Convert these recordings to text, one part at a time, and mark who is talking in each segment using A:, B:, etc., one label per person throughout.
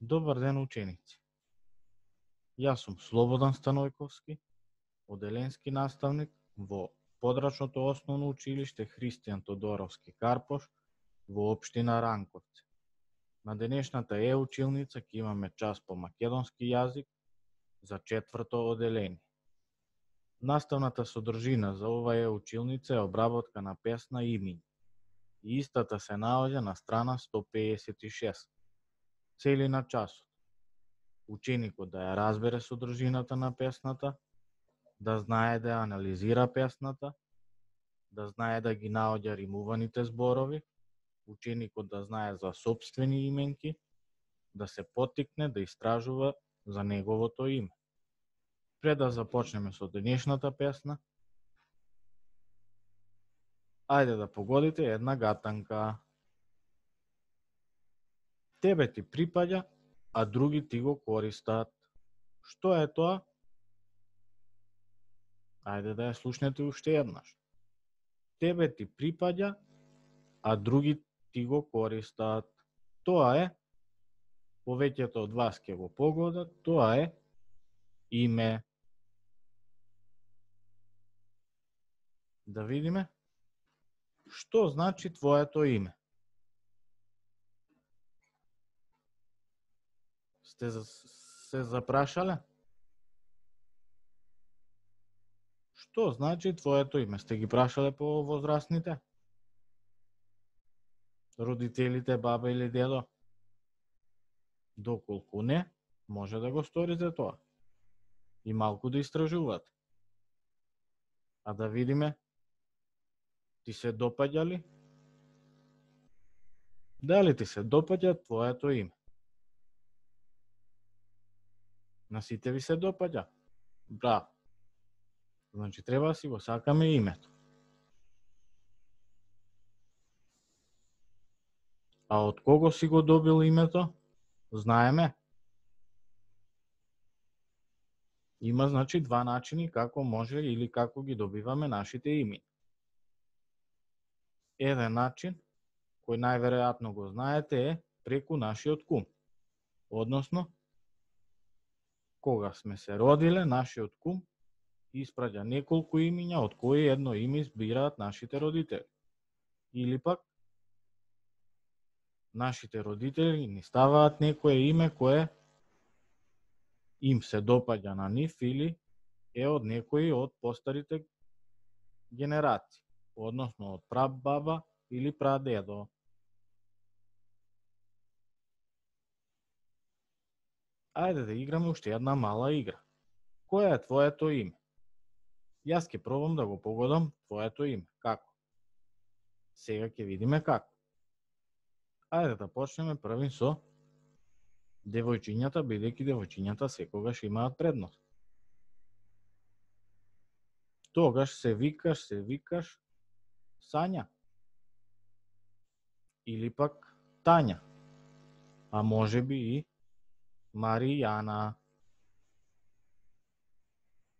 A: Добар ден, ученици. Јас сум Слободан Станојковски, оделенски наставник во подрачното основно училиште Христијан Тодоровски Карпош во општина Ранковци. На денешната училница ќе имаме час по македонски јазик за 4-то оделение. Наставната содржина за ова училница е обработка на песна Имињ и истата се наоѓа на страна 156. Цели на часот. Ученикот да ја разбере содржината на песната, да знае да ја анализира песната, да знае да ги наоѓа римуваните зборови, ученикот да знае за сопствени именки, да се поттикне да истражува за неговото име. Пред да започнеме со денешната песна, ајде да погодите една гатанка. Тебе ти припаѓа, а други ти го користат. Што е тоа? Ајде да ја слушнете уште еднаш. Тебе ти припаѓа, а други ти го користат. Тоа е, повеќето од вас ќе го погодат, тоа е име. Да видиме, што значи твоето име? Сте се запрашале? Што значи твоето име? Сте ги прашале по возрастните? Родителите, баба или дедо? Доколку не, може да го сторите тоа. И малку да истражувате. А да видиме, ти се допаѓа ли? Дали ти се допаѓа твоето име? На сите ви се допаѓа? Браво. Значи треба да си го сакаме името. А од кого си го добил името? Знаеме. Има значи два начини како може или како ги добиваме нашите имена. Еден начин, кој најверојатно го знаете, е преку нашиот кум. Односно, кога сме се родиле, нашиот кум испраќа неколку имиња, од кои едно име избираат нашите родители. Или пак, нашите родители ни ставаат некое име кое им се допаѓа на нив или е од некои од постарите генерации, односно од прабаба или прадедо. Ајде да играме уште една мала игра. Кој е твоето име? Јас ќе пробам да го погодам твоето име. Како? Сега ќе видиме како. Ајде да почнеме првин со девојчињата, бидејќи девојчињата секогаш имаат предност. Тогаш се викаш Сања. Или пак Тања. А може би и Маријана.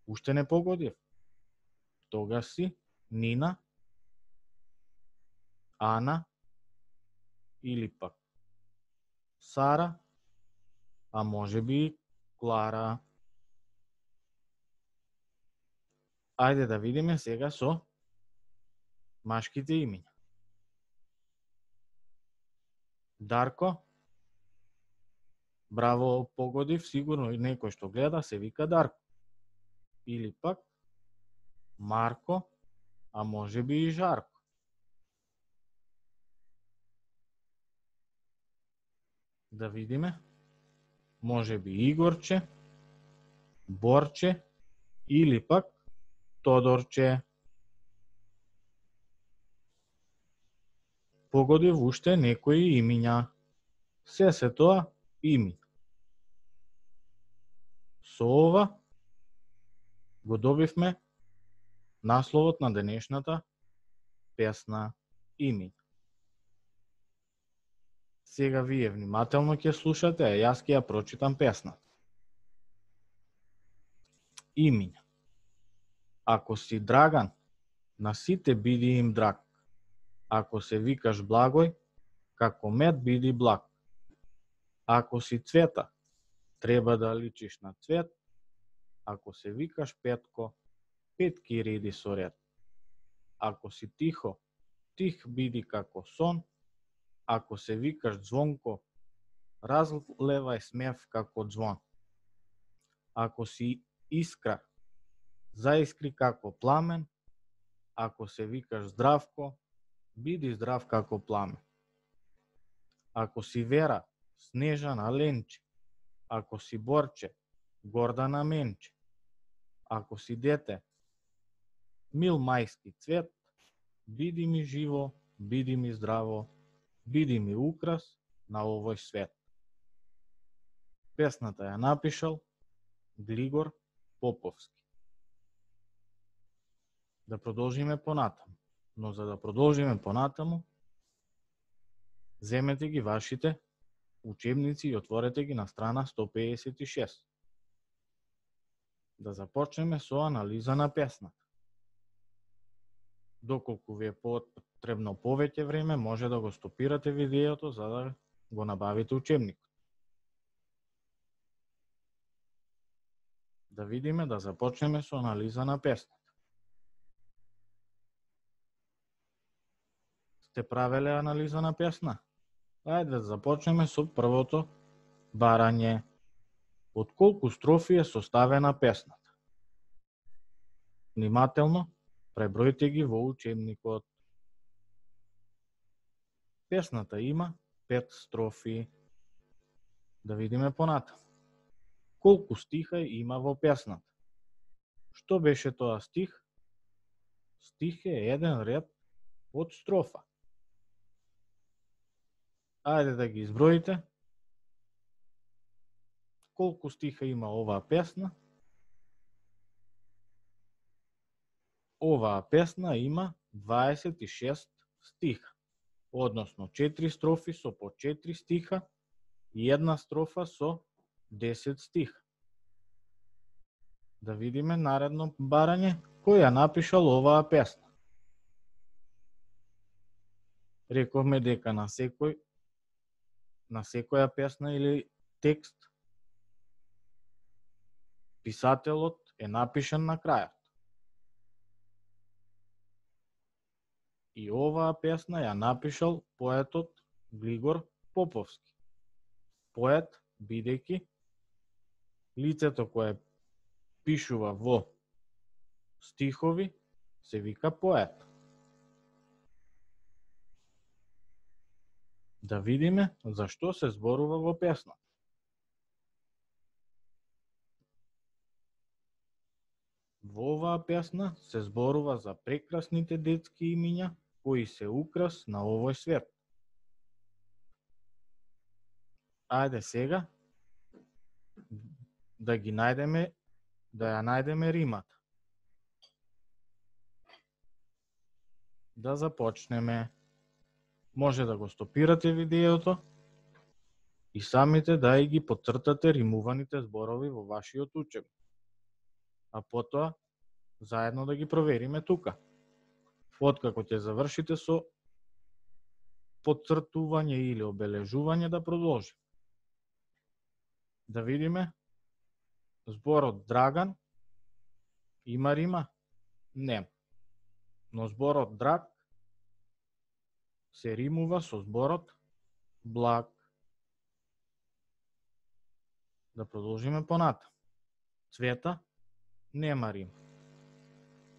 A: Уште не погодив. Тогаш си Нина, Ана или пак Сара, а може би и Клара. Ајде да видиме сега со машките имиња. Дарко. Браво, погодив, сигурно и некој што гледа се вика Дарко. Или пак Марко, а може би и Жарко. Да видиме, може би Игорче, Борче или пак Тодорче. Погодив уште некои имиња. Се тоа имиња. Со ова го добивме насловот на денешната песна Имиња. Сега вие внимателно ќе слушате, а јас ќе ја прочитам песната. Имиња. Ако си Драган, на сите биди им драг. Ако се викаш Благој, како мед биди благ. Ако си Цвета, треба да личиш на цвет. Ако се викаш Петко, петки реди со ред. Ако си Тихо, тих биди како сон. Ако се викаш Звонко, разлевај смев како звон. Ако си Искра, заискри како пламен. Ако се викаш Здравко, биди здрав како пламе. Ако си Вера, снежана ленче. Ако си Борче, Гордана менче. Ако си дете, мил мајски цвет, биди ми живо, биди ми здраво, биди ми украс на овој свет. Песната ја напишал Глигор Поповски. Да продолжиме понатаму. Но за да продолжиме понатаму, земете ги вашите учебници и отворете ги на страна 156. Да започнеме со анализа на песната. Доколку ви е потребно повеќе време, може да го стопирате видеото за да го набавите учебникот. Да видиме, да започнеме со анализа на песната. Сте правеле анализа на песна? Ајде да започнеме со првото барање. Од колку строфи е составена песната? Внимателно пребројте ги во учебникот. Песната има 5 строфи. Да видиме понатаму. Колку стиха има во песната? Што беше тоа стих? Стих е еден ред од строфа. Ајде да ги изброите. Колку стиха има оваа песна? Оваа песна има 26 стиха, односно 4 строфи со по 4 стиха и една строфа со 10 стиха. Да видиме наредно барање, кој ја напишал оваа песна. Рековме дека на секоја песна или текст писателот е напишан на крајот. И оваа песна ја напишал поетот Глигор Поповски. Поет бидејќи лицето кое пишува во стихови се вика поет. Да видиме за што се зборува во песна. Во оваа песна се зборува за прекрасните детски имиња кои се украс на овој свет. Ајде сега да ја најдеме римата. Да започнеме. Може да го стопирате видеото и самите да и ги потцртате римуваните зборови во вашиот учебник. А потоа заедно да ги провериме тука. Откако ќе завршите со потцртување или обележување, да продолжи. Да видиме. Зборот Драган има рима? Нема. Но зборот драг се римува со зборот благ. Да продолжиме понатаму. Цвета нема рим.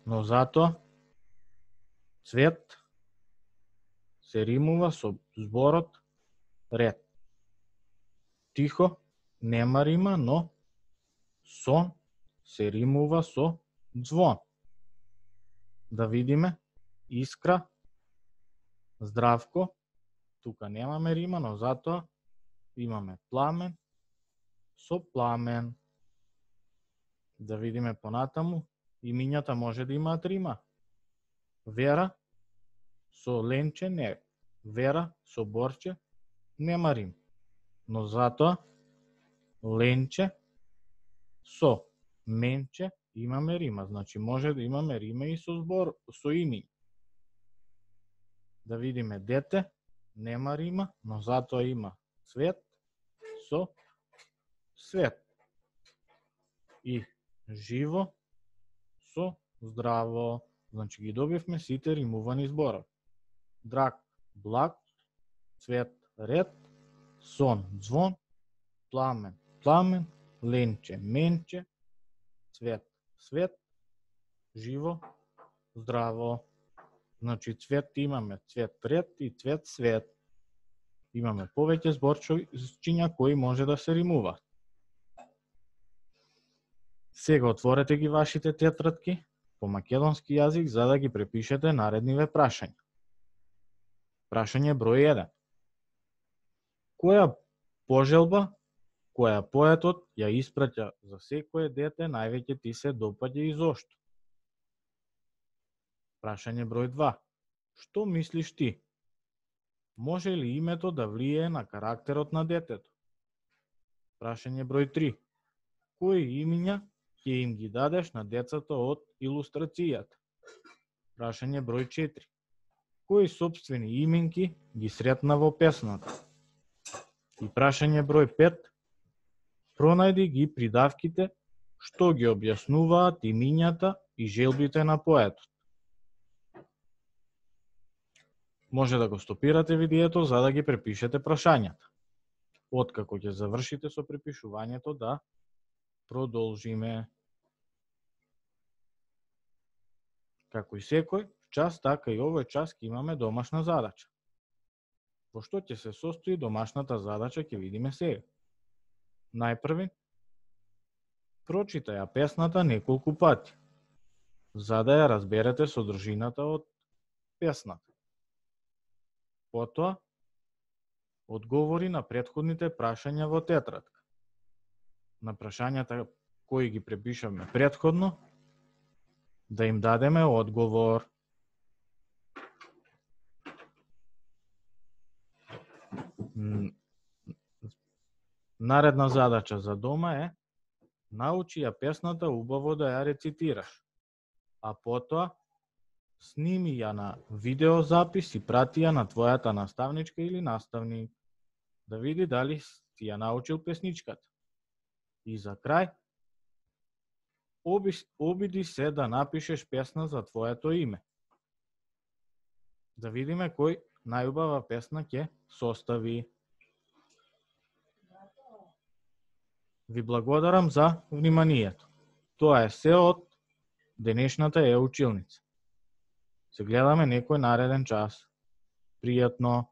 A: Но затоа цвет се римува со зборот ред. Тихо нема рима, но сон се римува со звон. Да видиме. Искра, Здравко, тука немаме рима, но затоа имаме пламен со пламен. Да видиме понатаму. Имињата може да имаат рима. Вера со Ленче не. Вера со Борче нема рим. Но затоа Ленче со Менче имаме рима. Значи може да имаме рима и со имиња. Да видиме дете нема рима, но затоа има цвет со свет. И живо со здраво. Значи ги добивме сите римувани зборови. Драг, благ, цвет, ред, сон, звон, пламен, пламен, ленче, менче, цвет, свет, живо, здраво. Значи цвет имаме цвет ред и цвет свет. Имаме повеќе зборчиња кои може да се римуваат. Сега отворете ги вашите тетрадки по македонски јазик за да ги препишете наредниве прашања. Прашање број 1. Која пожелба која поетот ја испраќа за секое дете највеќе ти се допаѓа и зошто? Прашање број 2. Што мислиш ти? Може ли името да влијае на карактерот на детето? Прашање број 3. Кои имиња ќе им ги дадеш на децата од илустрацијата? Прашање број 4. Кои сопствени именки ги сретна во песната? И прашање број 5. Пронајди ги придавките што ги објаснуваат имињата и желбите на поетот. Може да го стопирате видеото за да ги препишете прашањата. Откако ќе завршите со препишувањето да продолжиме. Како и секој час, така и овој час ќе имаме домашна задача. Во што ќе се состои домашната задача ќе видиме сега. Најпрви, прочитај ја песната неколку пати, за да ја разберете содржината од песната. Потоа, одговори на претходните прашања во тетрадка. На прашањата кои ги препишавме претходно, да им дадеме одговор. Наредна задача за дома е научи ја песната убаво да ја рецитираш, а потоа сними ја на видеозапис и прати ја на твојата наставничка или наставник, да види дали ти ја научил песничката. И за крај, обиди се да напишеш песна за твоето име. Да видиме кој најубава песна ќе состави. Ви благодарам за вниманието. Тоа е се од денешната е училница. Се гледаме некој нареден час. Пријатно.